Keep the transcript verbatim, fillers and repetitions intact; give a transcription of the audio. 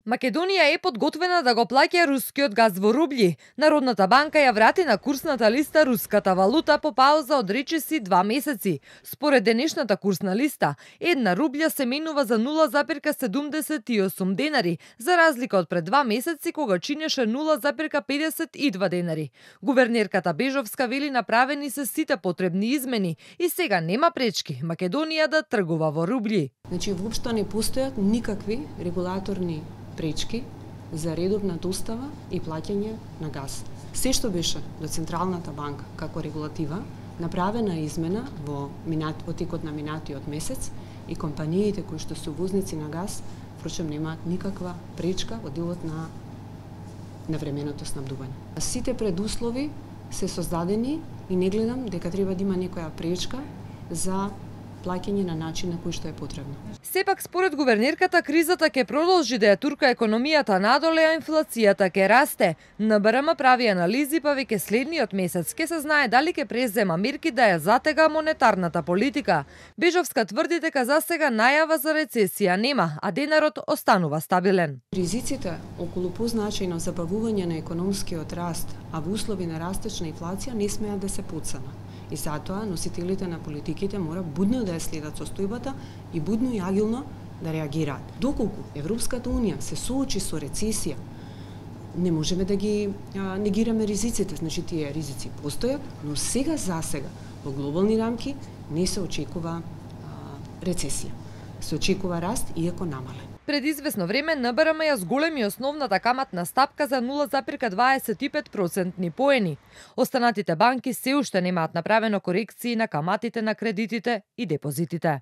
Македонија е подготвена да го плаќа рускиот газ во рубљи. Народната банка ја врати на курсната листа руската валута по пауза од речиси два месеци. Според денешната курсна листа, една рублја се менува за нула запирка седумдесет и осум денари, за разлика од пред два месеци кога чинеше нула запирка педесет и два денари. Гувернерката Бежовска вели направени се сите потребни измени и сега нема пречки Македонија да тргува во рубљи. Значи, воопшто не постојат никакви регулаторни пречки за редовна достава и плаќање на газ. Се што беше до Централната банка како регулатива, направена измена во минат во текот на минатиот месец и компаниите кои што се увозници на газ, впрочем немаат никаква пречка во делот на навременото снабдување. Сите предуслови се создадени и не гледам дека треба да има некоја пречка за плаќање на начин на кој што е потребно. Сепак според гувернерката кризата ќе продолжи да ја турка економијата надоле, а инфлацијата ќе расте. ен бе ер ем прави анализи, па веќе следниот месец ќе се знае дали ќе презема мерки да ја затега монетарната политика. Бежовска тврди дека засега најава за рецесија нема, а денарот останува стабилен. Ризиците околу позначајно забавување на економскиот раст, а во услови на растечна инфлација не смеат да се потценат. И затоа носителите на политиките мора будно да ја следат состојбата и будно и агилно да реагираат. Доколку Европската унија се соочи со рецесија, не можеме да ги а, негираме ризиците, значи тие ризици постојат, но сега за сега во глобални рамки не се очекува а, рецесија. Се очекува раст иако намален. Пред известно време ен бе ер ем ја зголеми основната каматна стапка за нула запирка дваесет и пет процентни поени. Останатите банки се уште немаат направено корекции на каматите на кредитите и депозитите.